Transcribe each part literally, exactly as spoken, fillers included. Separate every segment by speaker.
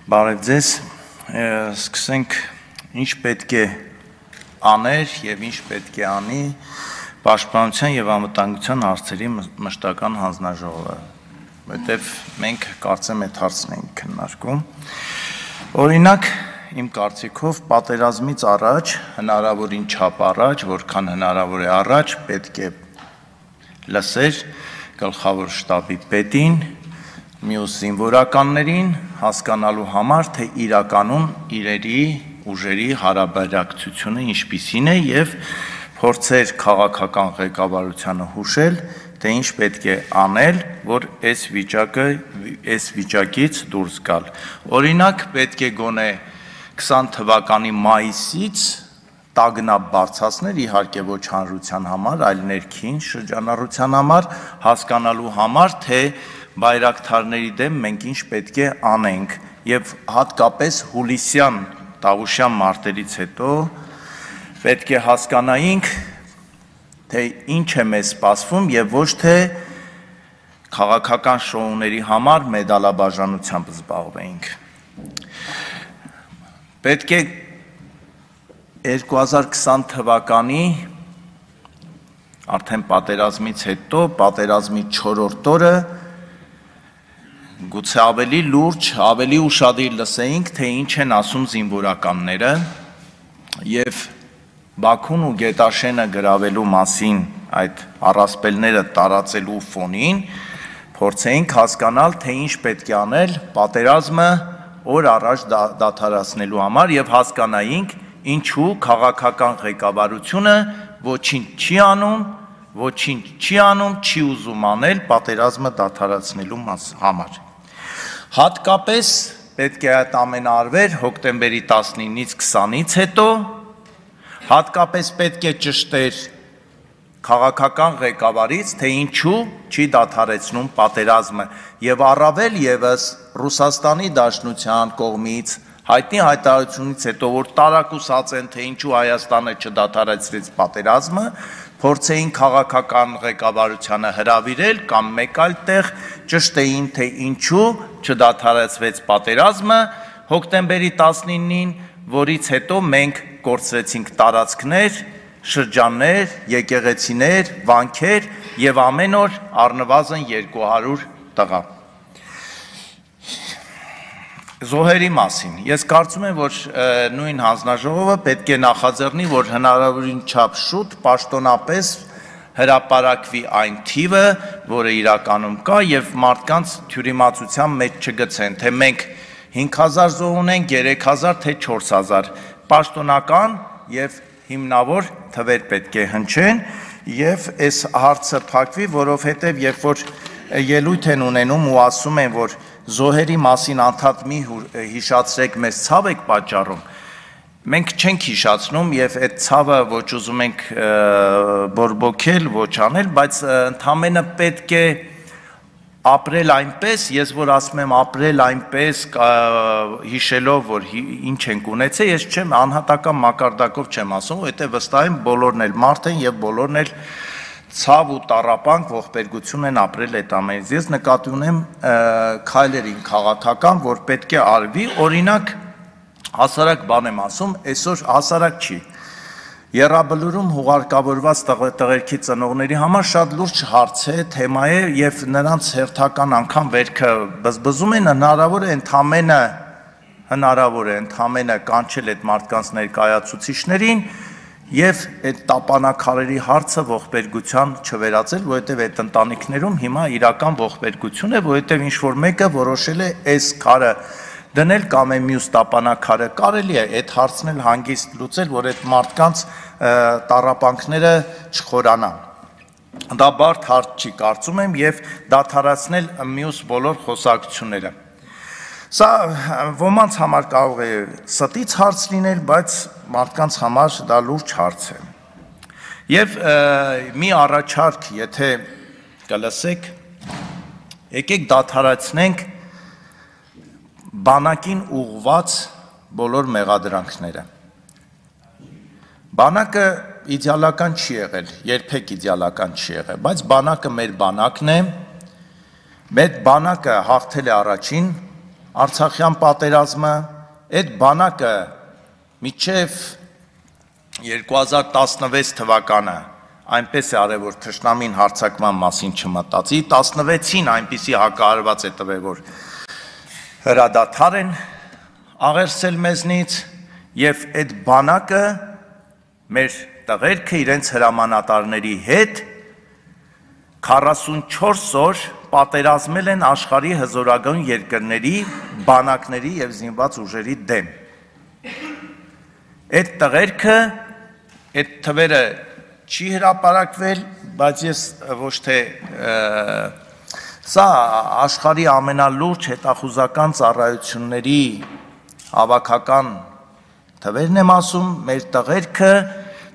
Speaker 1: Բարև ձեզ, սկսենք ինչ պետք է աներ և ինչ պետք է անի Պաշտպանության և անվտանգության հարցերի մշտական հանձնաժողովը, որովհետև մենք կարծեմ այդ հարցն ենք քննարկում։ Օրինակ, իմ կարծիքով պատերազմից առաջ, հնարավորին չափ առաջ, որքան հնարավոր է առաջ, պետք է լսեր գլխավոր շտաբի պետին, մյուս զինվորականներին հասկանալու համար, թե իրականում իրերի ուժերի հարաբերակցությունը ինչպիսին է և փորձեր քաղաքական ղեկավարությանը հուշել, թե ինչ պետք է անել, որ այս վիճակը, այս վիճակից դուրս գալ։ Օրինակ, պետք է գոնե քսան թվականի մայիսից տագնապ բարձրացնել, իհարկե ոչ հանրության համար, այլ ներքին շրջանառության համար, հասկանալու համար, թե բայրակթարների դեմ մենք ինչ պետք է անենք և հատկապես հուլիսյան տավուշյան մարտերից հետո պետք է հասկանայինք, թե ինչ է մեզ սպասվում և ոչ թե քաղաքական շոուների համար մեդալաբաժանությամբ զբաղվեինք։ Պետք է երկու հազար քսան թվականի արդեն պատերազմից հետո, պատերազմի չորրորդ օրը գուցե ավելի լուրջ, ավելի ուշադիր լսեինք, թե ինչ են ասում զինվորականները և Բաքուն ու Գետաշենը գրավելու մասին այդ առասպելները տարածելու ֆոնին փորձեինք հասկանալ, թե ինչ պետք է անել պատերազմը օր առաջ դադարեցնելու համար և հասկանայինք, ինչու քաղաքական ղեկավարությունը ոչինչ չի անում, ոչինչ չի անում, չի ուզում անել պատերազմը դադարեցնելու համար։ Հատկապես պետք է այդ ամենը արվեր հոկտեմբերի տասնինից քսանից հետո, հատկապես պետք է ճշտեր քաղաքական ղեկավարից, թե ինչու չի դադարեցնում պատերազմը և առավել ևս Ռուսաստանի Դաշնության կողմից հայտնի հայտարարությունից հետո, որ տարակուսած են, թե ինչու Հայաստանը չդադարեցրեց պատերազմը, փորձեին քաղաքական ղեկավարությանը հրավիրել կամ մեկ այլ տեղ ճշտեին, թե ինչու չդադարեցվեց պատերազմը հոկտեմբերի տասնինին, որից հետո մենք կորցրեցինք տարածքներ, շրջաններ, եկեղեցիներ, վանքեր և ամեն օր առնվազն երկու հարյուր տղա։ Զոհերի մասին։ Ես կարծում եմ, որ նույն հանձնաժողովը պետք է նախաձեռնի, որ հնարավորին չափ շուտ պաշտոնապես հրապարակվի այն թիվը, որը իրականում կա և մարդկանց թյուրիմացության մեջ չգցեն, թե մենք հինգ հազար զոհ ունենք, երեք հազար, թե չորս հազար, պաշտոնական և հիմնավոր թվեր պետք է հնչեն և այս հարցը փակվի, որովհետև երբ որ ելույթ են ունենում ու ասում են, որ զոհերի մասին անդադ մի հիշացրեք, մեզ ցավ եք պատճառում, մենք չենք հիշացնում և այդ ցավը ոչ ուզում ենք բորբոքել, ոչ անել, բայց ընդամենը պետք է ապրել այնպես, ես որ ասում եմ ապրել այնպես, հիշելով, որ ինչ ենք ունեցել, ես չեմ անհատական մակարդակով չեմ ասում, որովհետև վստահ եմ բոլորն էլ մարդ են և բոլորն էլ ցավ ու տառապանք, ողբերգություն են ապրել այդ ամենից։ Ես նկատի ունեմ քայլերին քաղաքական, որ պետք է արվի, օրինակ հասարակ բան եմ ասում, այսօր հասարակ չի։ Եռաբլուրում հուղարկավորված տղերքի ծնողների համար շատ լուրջ հարց է, թեմա է և նրանց հերթական անգամ վերքը բզբզում են, հնարավոր է ընդամենը հնարավոր է ընդամենը կանչել այդ մարդկանց ներկայացուցիչներին և այդ տապանակարերի հարցը ողբերգության չվերածել, որովհետև այդ ընտանիքներում հիմա իրական ողբերգություն է, որովհետև ինչ-որ մեկը որոշել է այս քարը դնել կամ է մյուս տապանակարը, կարելի է այդ հարցն էլ հանգիստ լուծել, որ այդ մարդկանց տառապանքները չխորանան։ Դա բարդ հարց չի, կարծում եմ, և դադարեցնել մյուս բոլոր խոսակցությունները։ Սա ոմանց համար կարող է ստից հարց լինել, բայց մարդկանց համար դա լուրջ հարց է։ Եվ մի առաջարկ, եթե կլսեք, եկեք դադարեցնենք բանակին ուղղված բոլոր մեղադրանքները։ Բանակը իդեալական չի եղել, երբեք իդեալական չի եղել, բայց բանակը մեր բանակն է, մեր բանակը հաղթել է առաջին Արցախյան պատերազմը, այդ բանակը մինչև երկու հազար տասնվեց թվականը այնպես է արել, որ թշնամին հարձակման մասին չմտածի, տասնվեցին այնպիսի հակահարված է տվել, որ հրադադար են աղերսել մեզնից եւ այդ բանակը մեր տղերքը իրենց հրամանատարների հետ քառասունչորս օր պատերազմել են աշխարհի հզորագույն երկրների բանակների եւ զինված ուժերի դեմ։ Այդ տղերքը, այդ թվերը չի հրապարակվել, բայց ես ոչ թե սա աշխարհի ամենալուրջ հետախուզական ծառայությունների հավաքական թվերն եմ ասում, մեր տղերքը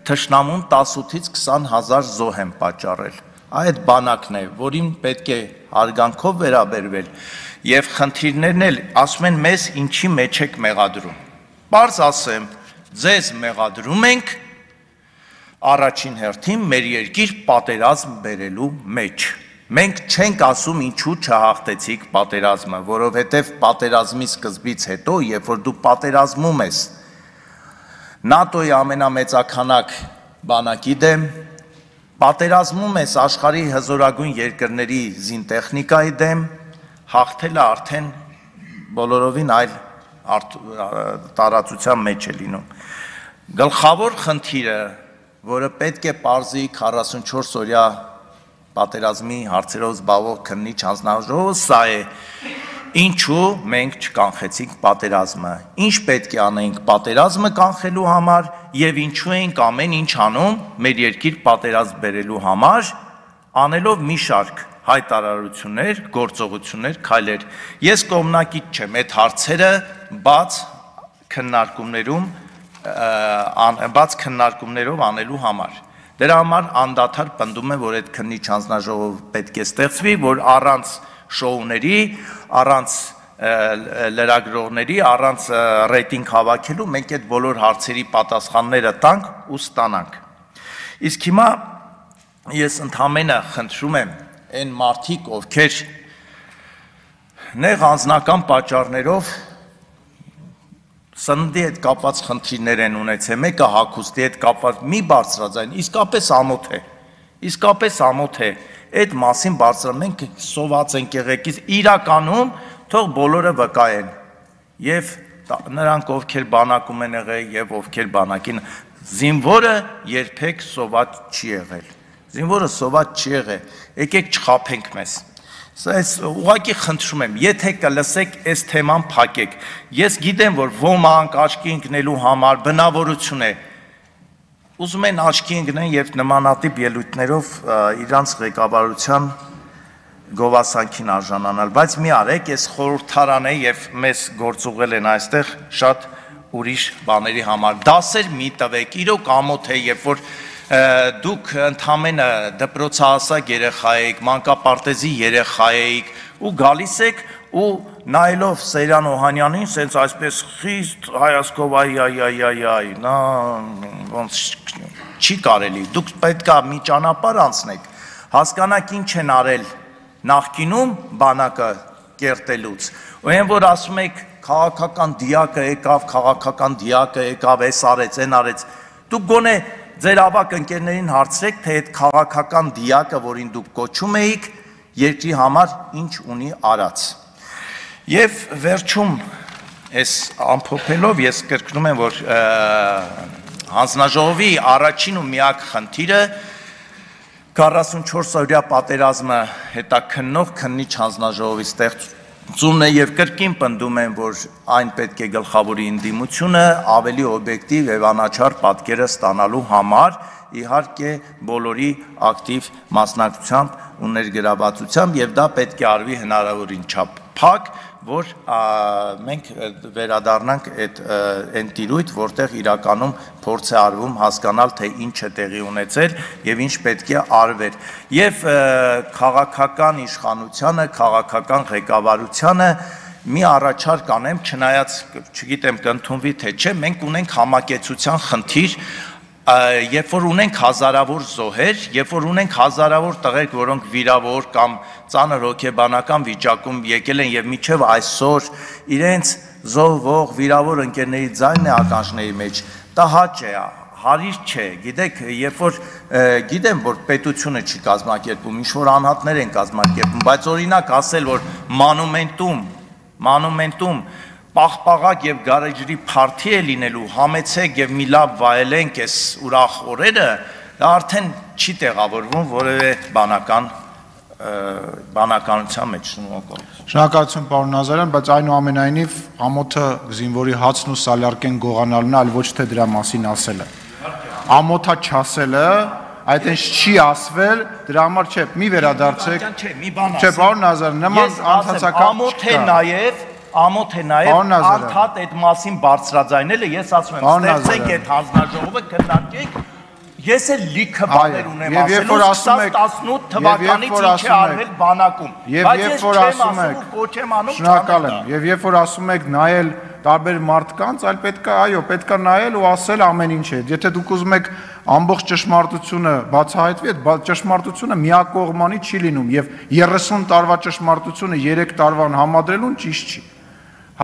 Speaker 1: թշնամուն տասնութից քսան հազար զոհ են պատճառել։ Այդ բանակն է, որին պետք է հարգանքով վերաբերվել եւ խնդիրներն էլ ասում են մեզ ինչի մեջ եք մեղադրում։ Պարզ ասեմ, ձեզ մեղադրում ենք առաջին հերթին մեր երկիր պատերազմ բերելու մեջ։ Մենք չենք ասում ինչու չհաղթեցիք պատերազմը, որովհետև պատերազմի սկզբից հետո, երբ որ դու պատերազմում ես նատոյի ամենամեծականակ բանակի դեմ, պատերազմում ես աշխարհի հզորագույն երկրների զինտեխնիկայի դեմ, հաղթելը արդեն բոլորովին այլ տարածության մեջ է լինում։ Գլխավոր խնդիրը, որը պետք է պարզի քառասունչորս օրյա պատերազմի հարցերով զբաղվող քննիչ հանձնաժողովը, սա է, ինչու մենք չկանխեցինք պատերազմը, ինչ պետք է անենք պատերազմը կանխելու համար եւ ինչու ենք ամեն ինչ անում մեր երկիր պատերազմ բերելու համար, անելով մի շարք հայտարարություններ, գործողություններ, քայլեր։ Ես կողմնակից չեմ այդ հարցերը բաց քննարկումներում բաց քննարկումներով անելու համար։ Դրա համար անդադար պնդում եմ, որ այդ քննիչ հանձնաժողով պետք է ստեղծվի, որ առանց շոուների, առանց լրագրողների, առանց ռեյտինգ հավաքելու մենք այդ բոլոր հարցերի պատասխանները տանք ու ստանանք։ Իսկ հիմա ես ընդհանրապես խնդրում եմ այն մարդիկ, ովքեր նեղ անձնական պատճառներով սննդի հետ կապված խնդիրներ են ունեցել, մեկը հագուստի հետ կապված մի բարձրաձայն, իսկապես ամոթ է, իսկապես ամոթ է, այդ մասին բարձր մենք սոված ենք եղեկից, իրականում թող բոլորը վկայեն, եւ նրանք ովքեր բանակում են եղել եւ ովքեր բանակին, զինվորը երբեք սոված չի եղել, զինվորը սոված չի եղել, եկեք չխաբենք մեզ։ Ես ուղղակի խնդրում եմ, եթե կլսեք այս թեման փակեք, ես գիտեմ, որ ոմանք աչքի ընկնելու համար բնավորություն է, ուզում են աչքի ընկնեն եւ նմանատիպ ելույթներով իրանց ղեկավարության գովասանքին արժանանալ, բայց մի արեք, ես խորհրդարան է եւ մեզ գործուղել են այստեղ շատ ուրիշ բաների համար, դասեր մի տվեք, իրոք ամոթ է, երբ որ դուք ընդհանրապես դպրոցահասակ երեխա եք, մանկապարտեզի երեխա եք ու գալիս եք ու նայելով Սեյրան Օհանյանին, սենց այսպես խիստ հայացքով այ այ այ այ այ, նա ոնց չի կարելի, դուք պետքա մի ճանապարհ անցնեք, հասկանաք ինչ են արել նախկինում բանակը կերտելուց, ու այն որ ասում եք քաղաքական դիակը եկավ, քաղաքական դիակը եկավ, էս արեց, այն արեց, դուք գոնե ձեր ավակ ընկերներին հարցրեք, թե այդ քաղաքական դիակը, որին դուք կոչում էիք, երկրի համար ինչ ունի արած։ Եվ վերջում այս ամփոփելով ես կրկնում եմ, որ հանձնաժողովի առաջին ու միակ խնդիրը քառասունչորս օրյա պատերազմը հետաքննող քննիչ հանձնաժողովի ստեղծումն է եւ կրկին պնդում եմ, որ այն պետք է գլխավորի ընդդիմությունը ավելի օբյեկտիվ եւ անաչառ պատկերը ստանալու համար, իհարկե բոլորի ակտիվ մասնակցությամբ ու ներգրավվածությամբ եւ դա պետք է արվի հնարավորին չափ փակ, որ մենք վերադառնանք այդ այն տիրույթ, որտեղ իրականում փորձ է արվում հասկանալ, թե ինչ է տեղի ունեցել եւ ինչ պետք է արվեր։ Եվ քաղաքական իշխանությանը, քաղաքական ղեկավարությանը մի առաջարկ անեմ, չնայած չգիտեմ կընդունվի թե չէ, մենք ունենք համակեցության խնդիր երբ որ ունենք հազարավոր զոհեր, երբ որ ունենք հազարավոր տղերք, որոնք վիրավոր կամ ծանր հոգեբանական վիճակում եկել են եւ մինչեւ այսօր իրենց զոհվող վիրավոր ընկերների ձայնն է ականջների մեջ, դա հաճ է, հարիր չէ, գիտեք, երբ որ գիտեմ, որ պետությունը չի կազմակերպում, ինչ որ անհատներ են կազմակերպում, բայց օրինակ ասել, որ մանումենտում, մանումենտում պաղպաղակ եւ գարեջրի փարթի է լինելու, համեցեք եւ մի լավ վայելենք այս ուրախ օրերը, դա արդեն չի տեղավորվում որևէ բանական բանականության մեջ։ Շնորհակալություն։
Speaker 2: Շնորհակալություն պարոն Նազարյան, բայց այնուամենայնիվ ամոթը զինվորի հացն ու սալյարկեն գողանալն է, այլ ոչ թե դրա մասին ասելը։ Ամոթա չասելը, այդ ինչ չի ասվել, դրա համար չէ, մի վերադարձեք։ Չէ, պարոն Նազարյան, նման անցածական
Speaker 1: ամոթ է նաեւ Ամոթ է նաև արդհատ այդ մասին բարձրաձայնելը, ես ասում եմ, ստեղծենք այդ հանձնաժողովը, քննարկենք, ես էլ լիքը բաներ ունեմ ասելու, սկսած տասնութ թվականից ինչ է արվել բանակում, բայց ես չեմ ասում ու կոչ եմ անում
Speaker 2: շնորհակալ եմ, եւ երբ որ ասում եք նայել տարբեր մարդկանց, այլ պետք է, այո, պետք է նայել ու ասել ամեն ինչը, եթե դուք ուզում եք ամբողջ ճշմարտությունը բացահայտվի, այդ ճշմարտությունը միակողմանի չի լինում, եւ երեսուն տարվա ճշմարտությունը երեք տարվան համադրելուն ճիշտ չի։